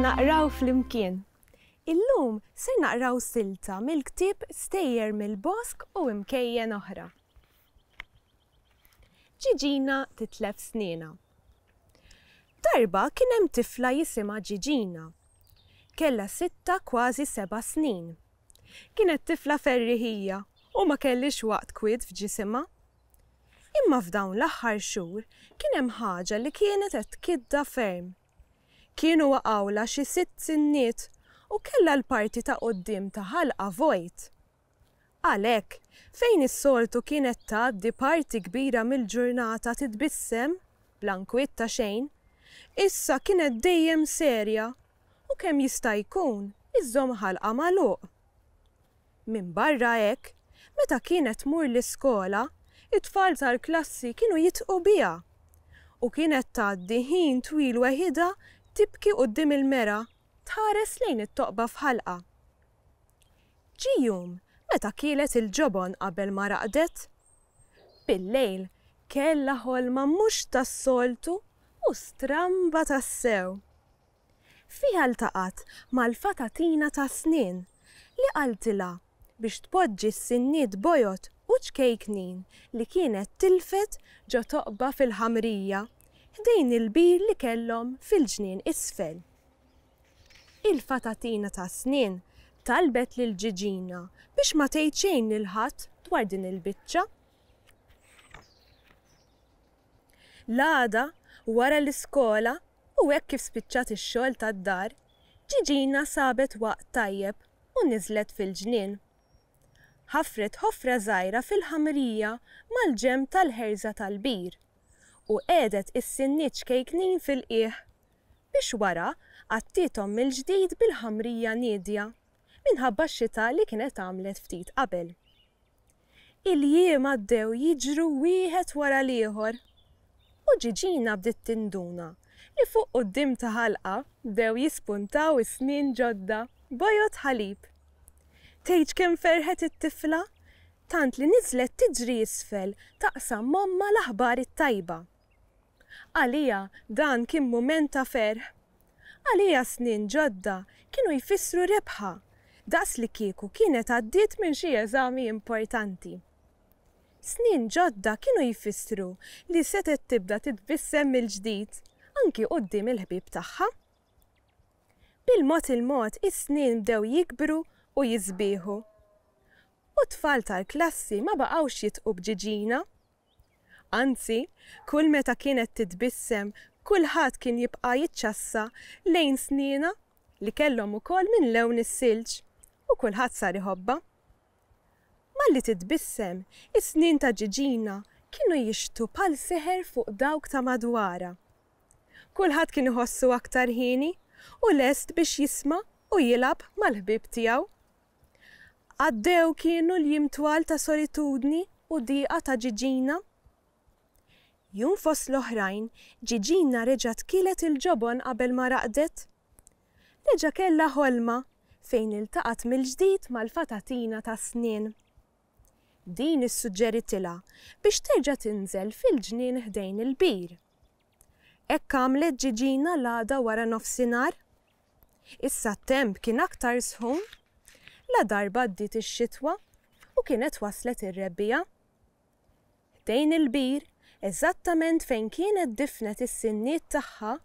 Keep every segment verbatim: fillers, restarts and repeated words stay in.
Naqraw Flimkien. Illum ser naqraw silta mill-ktieb Stejjer mill-Bosk u Imkejjen Oħra. Ġiġina titlef snienha. Darba kien hemm tifla jisimha Ġiġina. Kellha sitta kważi seba' snin. Kienet tifla ferriħija u ma kellhiex waqt kwiet f'ġisimha. Imma f'dawn l-aħħar xhur kien hemm ħaġa li kienet qed tkiddha ferm. Kienu waqgħulha xi sitt sinniet u kellha l-parti ta' quddiem ta' ħalqha vojt. Għalhekk, fejn is-soltu kienet tgħaddi parti kbira mill-ġurnata titbissem, bla nkwiet ta' xejn, issa kienet dejjem serja u kemm jista' jkun iżżomm ħalqha magħluq. Minbarra hekk, meta kienet tmur l-iskola, it-tfal tal-klassi kienu jidħqu biha u kienet tgħaddi ħin twil weħidha tibki quddiem il-mera tħares lejn it-toqba f'ħalqha. Ġie jum meta kielet il-ġobon qabel ma raqdet. Bil-lejl kellha ħolma mhux tas-soltu u stramba tassew. Fiha ltaqgħet mal-fatatina tas-snien li qaltilha biex tpoġġi s-sinniet bojod u ċkejknin li kienet tilfet ġo toqba fil-ħamrija ħdejn il-bir li kellhom fil-ġnien isfel. Il-fatatina tas-snien talbet lil Ġiġina biex ma tgħid xejn lil ħadd dwar din il-biċċa. L-għada, wara l-iskola u hekk kif spiċċat ix-xogħol tad-dar, Ġiġina sabet waqt tajjeb u niżlet fil-ġnien. Ħafret ħofra żgħira fil-ħamrija mal-ġenb tal-ħerża tal-bir u qiegħdet is-sinniet ċkejknin fil-qiegħ biex wara għattiethom mill-ġdid bil-ħamrija niedja minħabba x-xita li kienet għamlet ftit qabel. Il-jiem għaddew jiġru wieħed wara l-ieħor u Ġiġina bdiet tinduna li fuq quddiem ta' ħalqha bdew jispuntaw is-snien ġodda bojod ħalib. Tgħidx kemm ferħet it-tifla, tant li niżlet tiġri isfel taqsam m'ommha l-aħbar it-tajba. Għaliha dan kien mument ta' ferħ. Għaliha snien ġodda kienu jfissru rebħa, daqs li kieku kienet għaddiet minn xi eżami importanti. Snien ġodda kienu jfissru li setgħet tibda titbissem mill-ġdid, anki quddiem il-ħbieb tagħha. Bil-mod il-mod is-snien bdew jikbru u jisbieħu. U t-tfal tal-klassi ma baqgħux jidħqu b'Ġiġina. Anzi, kull meta kienet titbissem, kulħadd kien jibqa' jiċċassa lejn snienha li kellhom ukoll minn lewn is-silġ u kulħadd sar iħobbha. Malli titbissem, is-snien ta' Ġiġina kienu jixħtu bħal seħer fuq dawk ta' madwarha. Kulħadd kien iħossu aktar hieni u lest biex jisma' u jilgħab mal-ħbieb tiegħu. Għaddew kienu l-jiem twal ta' solitudni u diqa ta' Ġiġina. Jum fost l-oħrajn, Ġiġina reġgħet kielet il-ġobon qabel ma raqdet. Reġa' kellha ħolma fejn iltaqgħet mill-ġdid mal-fatatina tas-snien. Din issuġġeritilha biex terġa' tinżel fil-ġnien ħdejn il-bir. Hekk għamlet Ġiġina l-għada wara nofsinhar. Issa t-temp kien aktar sħun, ladarba għaddiet ix-xitwa u kienet waslet ir-rebbiegħa. Ħdejn il-bir, eżattament fejn kienet difnet is-sinniet tagħha,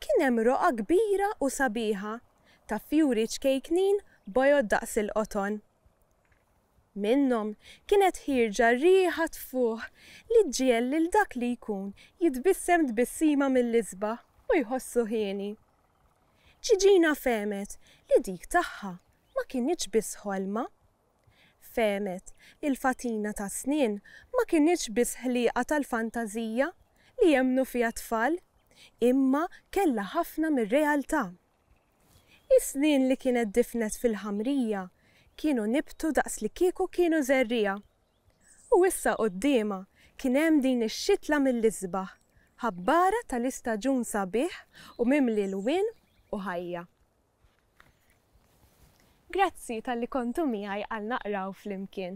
kien hemm roqgħa kbira u sabiħa ta' fjuri ċkejknin bojod daqs il-qoton. Minnhom kienet ħierġa riħa tfuħ li ġġiegħel lil dak li jkun jitbissem tbissima mill-isbaħ u jħossu hieni. Ġiġina fehmet li dik tagħha ma kinitx biss ħolma. Fehmet li l-fatina tas-snien ma kinitx biss ħlieqa tal-fantażija li jemmnu fiha t-tfal, imma kellha ħafna mir-realtà. Is-snien li kienet difnet fil-ħamrija kienu nibtu daqs li kieku kienu żerriegħa. U issa quddiemha kien hemm din ix-xitla mill-isbaħ, ħabbara tal-istaġun sabiħ u mimli lwien u ħajja. Grazzi talli kontu miegħi għal Naqraw Flimkien.